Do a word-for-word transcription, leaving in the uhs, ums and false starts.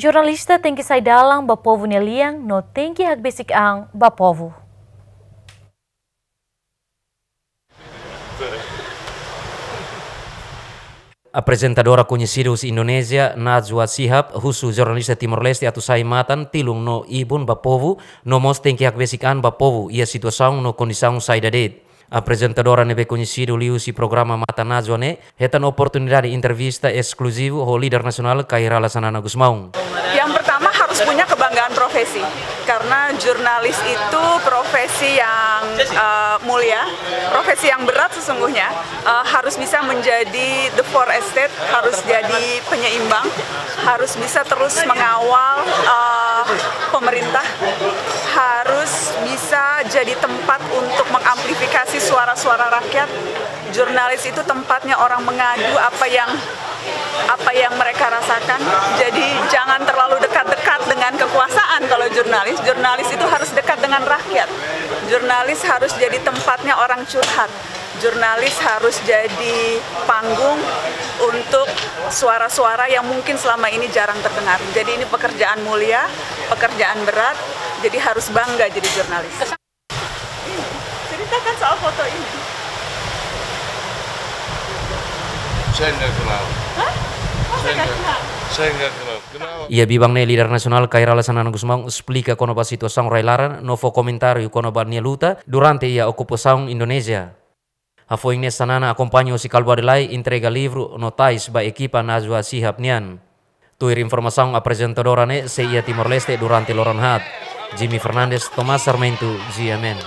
Jornalista tenke sai dalan ba povu nia lian no tenke hakbesik an ba povu. Aprezentadora koñesidu husi Indonézia, Najwa Shihab, husu jornalista Timor-Leste atu sai matan, tilun no ibun ba povu, no mós tenke hakbesik an ba povu iha situasaun no kondisaun saida de'it. Aprezentadora ne'ebé koñesidu liuhusi programa Mata Najwa ne'e hetan oportunidade entrevista eskluzivu ho líder nasionál Kay Rala Xanana Gusmão. Yang pertama, harus punya kebanggaan profesi, karena jurnalis itu profesi yang, eh, mulia, profesi yang berat sesungguhnya. Eh, harus bisa menjadi the fourth estate, harus jadi penyeimbang, harus bisa terus mengawal, eh, pemerintah, harus bisa jadi tempat untuk mengamplifikasi suara-suara rakyat. Jurnalis itu tempatnya orang mengadu apa yang, apa yang mereka rasakan. Jadi jangan terlalu dekat-dekat dengan kekuasaan kalau jurnalis. Jurnalis itu harus dekat dengan rakyat. Jurnalis harus jadi tempatnya orang curhat. Jurnalis harus jadi panggung untuk suara-suara yang mungkin selama ini jarang terdengar. Jadi ini pekerjaan mulia, pekerjaan berat, jadi harus bangga jadi jurnalis. Ceritakan soal foto ini. Saya nggak kenal. Hah? Masa nggak kenal? Saya nggak kenal. Kenal. Iha biban ne'e líder nasionál Kay Rala Xanana Gusmão esplika kona-ba situasaun rai-laran no fó komentáriu kona-ba nia luta durante iha okupasaun Indonézia. Hafoin ne'e Xanana akompaña husi Kalbuadelaie entrega livru no tais ba ekipa Najwa Shihab nian. Tuir informasaun, aprezentadora ne'e sei iha Timor-Leste durante loron haat. Jimmy Fernandes, Tomás Sarmento, G M N.